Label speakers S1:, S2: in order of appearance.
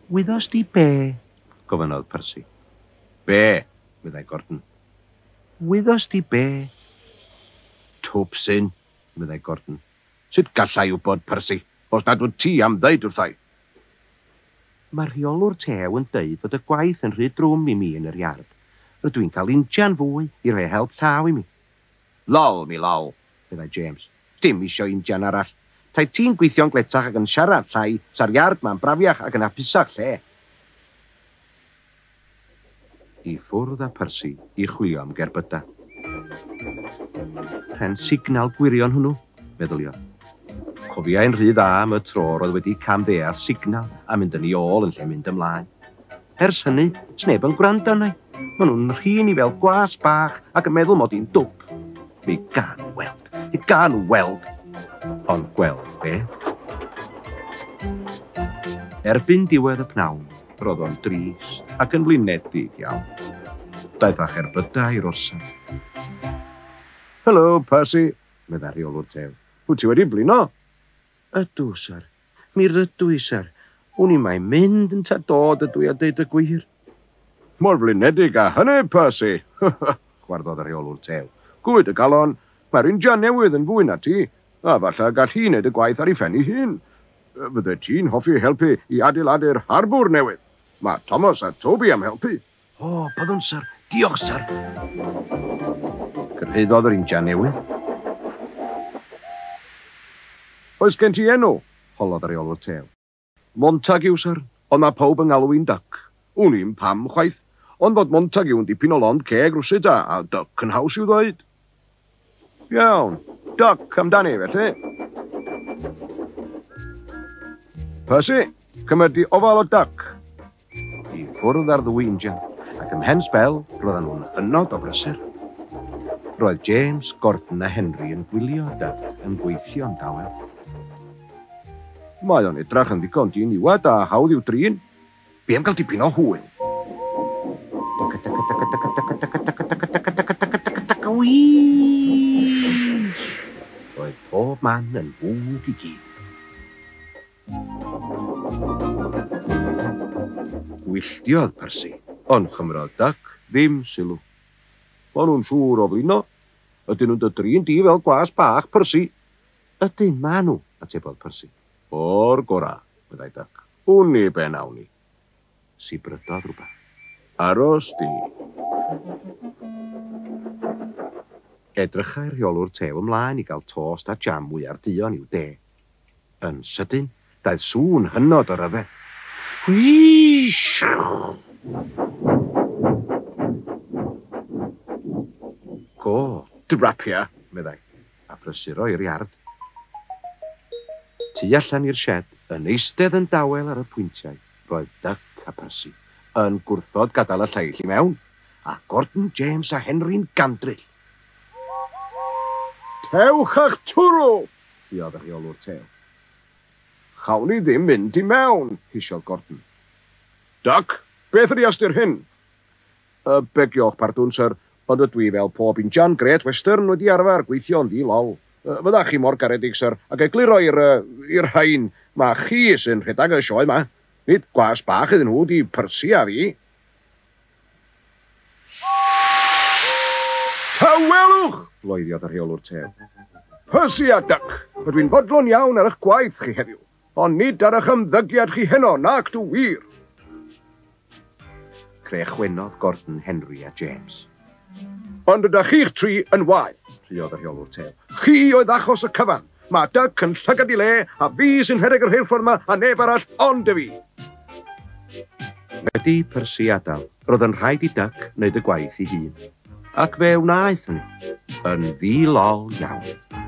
S1: Wyddost di be? gofynnodd Percy. Be? meddai Gordon. Wyddost di be? Twpsyn, meddai Gordon. Sut galla i wybod, Percy, os nad wyt ti am ddeud wrtha i? Mae'r rheolwr tew yn deud fod y gwaith yn rhy drwm i mi yn yr iard. Rydw i'n cael injan fwy i rhoi help llaw i mi. Lol, mi lol, meddai James. Dim isio injan arall. Tai ti'n gweithio'n gletach ac yn siarad llai, sa'r iard 'ma'n brafiach ac yn hapusach lle. I ffwrdd â Percy i chwilio am gerbydau. Pren signal gwirion hwnnw, meddyliodd. Cofiai'n rhy dda am y tro roedd wedi camddeall signal a mynd yn ei ôl yn lle mynd ymlaen. Ers hynny, sneb yn gwrando arna i. Maen nhw'n rhin i fel gwas bach ac yn meddwl mod i'n dwp. Mi gawn nhw weld. Mi gawn nhw weld. Ond gweld be? Erbyn diwedd y pnawn, Roedd o'n drist ac yn flinedig iawn. Daeth â cherbydau i'r orsaf. Helo, Percy, meddai'r rheolwr tew. Wyt ti wedi blino? Ydw, syr. Mi rydw i, syr. Wn i mai mynd ynta dod ydw i a deud y gwir. Mor flinedig â hynny, Percy! chwarddodd y rheolwr tew. Gwyd y galon, mae'r injan newydd yn fwy na ti, a falle y gall hi wneud y gwaith ar ei phen ei hun. Fyddet ti'n hoffi helpu i adeiladu'r harbwr newydd? Mae Thomas a Toby am helpu. O, byddwn, syr. Diolch, syr. Cyrhaeddodd yr injan newydd. Oes gen ti enw? holodd y rheolwr tew. Montague, syr, ond mae pawb yn ngalw i'n Duck. Wn i'm pam, chwaith, ond fod Montague yn dipyn o lond ceg rywsut a, a Duck yn haws i'w ddweud. Iawn, Duck amdani, felly. Percy, cymer di ofal o Duck. I ffwrdd â'r ddwy injan, ac ymhen sbel, roedden nhw'n hynod o brysur. Roedd James, Gordon a Henry yn gwylio Duck yn gweithio'n dawel. Mae o'n edrach yn ddigon diniwed a hawdd i'w drin. Be am gael dipyn o hwyl? Wîsh! Roedd pob man yn fwg i gyd. Gwylltiodd Percy, ond chymrodd Duck ddim sylw. Maen nhw'n siŵr o flino. Ydyn nhw'n dy drin di fel gwas bach, Percy? Ydyn, maen nhw, atebodd Percy. O'r gorau, meddai Duck. Wn i be wnawn ni. Sibrydodd rhywbeth. Aros di. Edrychai'r rheolwr tew ymlaen i gael tost a jam mwyar duon i'w de. Yn sydyn, daeth sŵn hynod o ryfedd. Wheesh! Go, drapia, meddai, a phrysuro i'r iard. Tu allan i'r sied, yn eistedd yn dawel ar y pwyntiau, roedd Duck a Percy, yn gwrthod gadael y lleill i mewn, a Gordon, James a Henry'n gandryll. Tewch a'ch twrw! rhuodd y rheolwr tew. Chawn ni ddim mynd i mewn, hisiodd Gordon. Duck, beth ydi ystyr hyn? Y begio'ch pardwn, syr, ond ydw i, fel pob injan Great Western, wedi arfer gweithio'n ddi-lol. Fyddach chi mor garedig, syr, ag egluro i'r, i'r rhain, ma' chi sy'n rhedag y sioe 'ma. Nid gwas bach iddyn nhw 'di Percy a fi. Tawelwch! bloeddiodd y rheolwr tew. Percy a Duck, rydw i'n fodlon iawn ar eich gwaith chi heddiw. Ond nid ar eich ymddygiad chi heno, nac dw wir! Crechwenodd Gordon, Henry a James. Ond ydach chi'ch tri yn wael, rhuodd y rheolwr tew. Chi oedd achos y cyfan! Mae Duck yn llygad i le, a fi sy'n rhedeg y rheilffordd 'ma, a neb arall ond y fi! Wedi Percy adael, roedd yn rhaid i Duck wneud y gwaith ei hun. Ac fe wnaeth hynny. Yn ddi-lol iawn.